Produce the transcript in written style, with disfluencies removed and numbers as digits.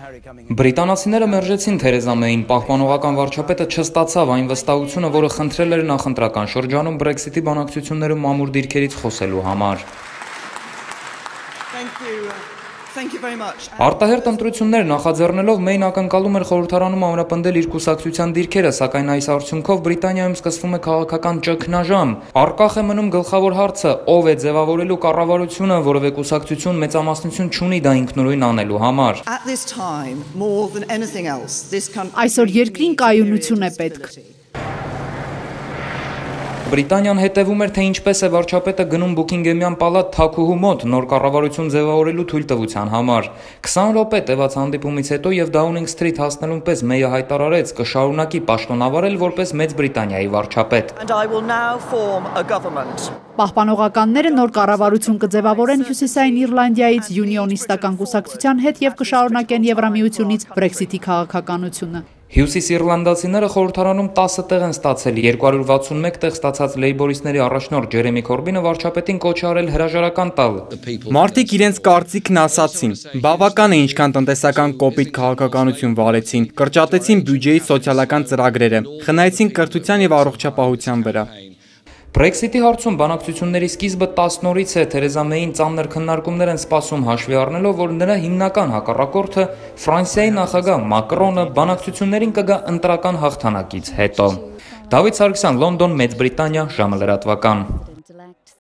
Բրիտանացիները մերժեցին Թերեզա Մեյին, պահպանողական վարչապետը չստացավ այն վստահությունը, որը խնդրել էր նախընտրական շրջանում Brexit-ի բանակցություններում ամուր դիրքերից խոսելու համար։ Արտահերթ ընտրություններ նախաձեռնելով Մեյն ակնկալում էր խորհրդարանում ամրապնդել իր կուսակցության դիրքերը, սակայն այս արդյունքով Բրիտանիայում սկսվում է քաղաքական ճգնաժամ։ Առկախ է մնում գլխավոր հարցը՝ ով է ձևավորելու կառավարությունը, որովհետև կուսակցություն մեծամասնություն չունի դա ինքնուրույն անելու համար։ Այսօր երկրին կայունություն է պետք։ Բրիտանիան հետևում էր, թե ինչպես է վարչապետը գնում Բուքինգեմյան պալատ թագուհու մոտ նոր կառավարություն ձևավորելու թույլտվության համար։ 20 րոպե տևած հանդիպումից հետո եւ Դաունինգ Սթրիթ հասնելուն պես Մեյը հայտարարեց կշարունակի պաշտոնավարել որպես Մեծ Բրիտանիայի վարչապետ։ Պահպանողականները նոր կառավարություն կձևավորեն Հյուսիսային Իռլանդիայից յունիոնիստական կուսակցության հետ եւ կշարունակեն Եվրամիությունից Brexit-ի քաղաքականությունը։ Հյուսիսիռլանդացիները խորհրդարանում 10 տեղ են ստացել, 261 տեղ ստացած լեյբորիստների առաջնորդ Ջերեմի Քորբինը վարչապետին կոչ է արել հրաժարական տալ։ Մարդիկ իրենց կարծիքն ասացին։ Բավական է ինչքան տնտեսական կոպիտ քաղաքականություն վարեցին, կրճատեցին բյուջեի սոցիալական ծրագրերը, խնայեցին կրթության եւ առողջապահության վրա։ Brexit-ի հարցում բանակցությունների սկիզբը 10 օրից է, Թերեզա Մեյին ծանր քննարկումներ են սպասում հաշվի առնելով, որ նրա հիմնական հակառակորդը Ֆրանսիայի նախագահ Մակրոնը բանակցություններին կգա ընտրական հաղթանակից հետո։ Դավիթ Սարգսյան, Լոնդոն, Մեծ Բրիտանիա, ժամը լրատվական։